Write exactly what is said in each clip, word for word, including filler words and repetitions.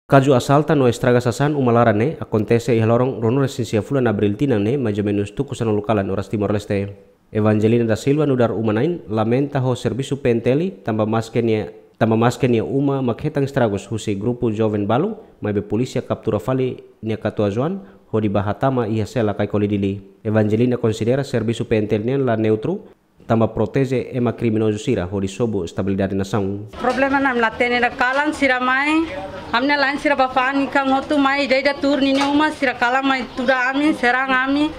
Kazu asalta no estraga sasán uma laran ne'e akontese iha loron ruanulu-resin-sia fulan Abríl tinan ne'e, mais ou menus tuku sanulu kalan oras Timor-Leste. Evangelina da Silva nu'udar uma-na'in lamenta ho servisu P N T L tanba maske nia, tanba maske nia uma mak hetan estragus husi grupu joven balu, maibé polísia kaptura fali nia katuas-oan hodi bá hatama iha sela Caicoli Dili. Evangelina konsidera servisu P N T L nian la neutru, tanba proteje ema kriminozu sira hodi sobu estabilidade nasaun. Problema ne'e ami la hatene ida, kalan sira mai, ami-nia la'en sira bá fa'an ikan hotu mai, ida-ida tuur ninia uma, sira kalan mai tuda ami, serang ami.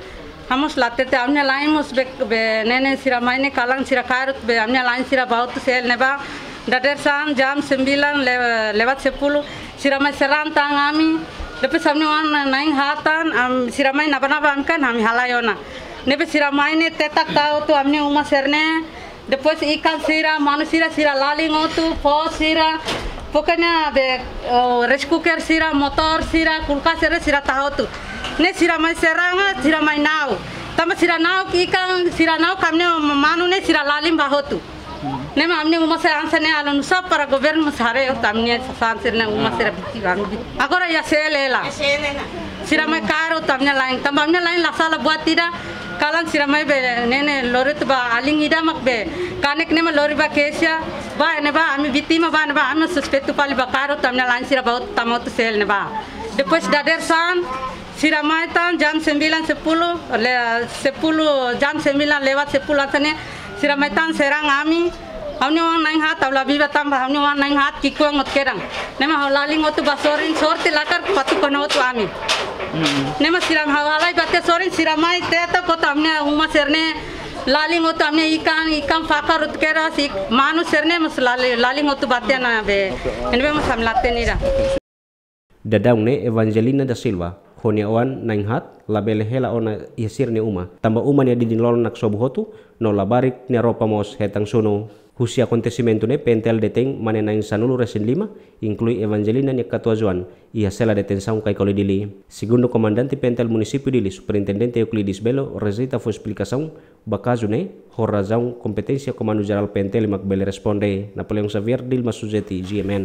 Ami mós la hatene, ami-nia la'en mós be, be ne'e ne'e sira mai ne'e kalan sira kaer hotu be ami-nia la'en sira bá hotu sel ne'ebá. Dadeer-saan jam sembilan le-, lewat sepuluh, sira mai serang tan ami. Depois ami-nia oan na'in-haat tan, am, sira mai naba-naba ami kan, ami halai ona. Ne'ebé sira mai ne'e tetak tau hotu ami-nia uma sira-ne'e. Depois ikan sira, manu sira, sira lalin hotu, fó sira. Pokoknya be, oh, rice cooker sira, motór sira, kulkas sira, sira tau hotu. Ne'e sira mai serang, sira mai na'ok. Tanba sira na'ok ikan, sira na'ok ami-nia manu ne'e sira lalin bá hotu. Ne'e mak ami-nia uma sira hanesan ne'e, halo nusá para governu mós haree hotu ami-nia sasán sira-ne'e, uma sira biti ami biti. Agora iha sel hela. Sira mai kaer hotu ami-nia la'en. Tanba ami-nia la'en la sala buat ida. Kalan sira mai be ne'e ne'e lori hotu bá alin ida mak be. Kanek ne'e mak lori bá keixa. Bá ne'ebá ami vítima bá ne'ebá ami suspeitu fali bá kaer hotu ami-nia la'en sira bá hotu tama hotu sel ne'ebá. Depois dadeer-saan sira mai tan jam sembilan sepuluh, le, sepuluh, jam sembilan lewat sepuluh hanesan ne'e, sira mai tan serang ami. Ha'u-nia oan na'in-haat, ha'u la biba tanba ha'u-nia oan na'in-haat ki'ikoan hotu kedan. Ne'e mak ha'u lalin hotu bá sorin, sorte latar patu kona hotu ami. Ne'e mak sira ha'u halai bá tiha sorin, sira mai tetak hotu ami-nia uma sira-ne'e, lalin hotu ami-nia ikan, ikan fakar hotu kedas, ik-, manu sira-ne'e mós lali-, lalin hotu bá tiha ona be. Ne'ebé mós ami la hatene ida. Daudaun ne'e Evangelina da Silva ho nia oan na'in-haat labele hela ona iha sira-nia uma, tanba uma nia didin-lolonak sobu hotu, no labarik nia roupa mós hetan sunu. Husi akontesimentu ne'e P N T L detein mane na'in sanulu-resin-lima, inklui Evangelina nia katuas-oan, iha sela detensaun Caicoli Dili. Segundu Komandante P N T L Munisípiu Dili, Superintendente Euclides Belo, rejeita fó esplikasaun ba kazu ne'e, ho razaun kompeténsia Komandu Jerál P N T L mak bele responde. Napoleão Xavier, Dilma Suzeti, G M N.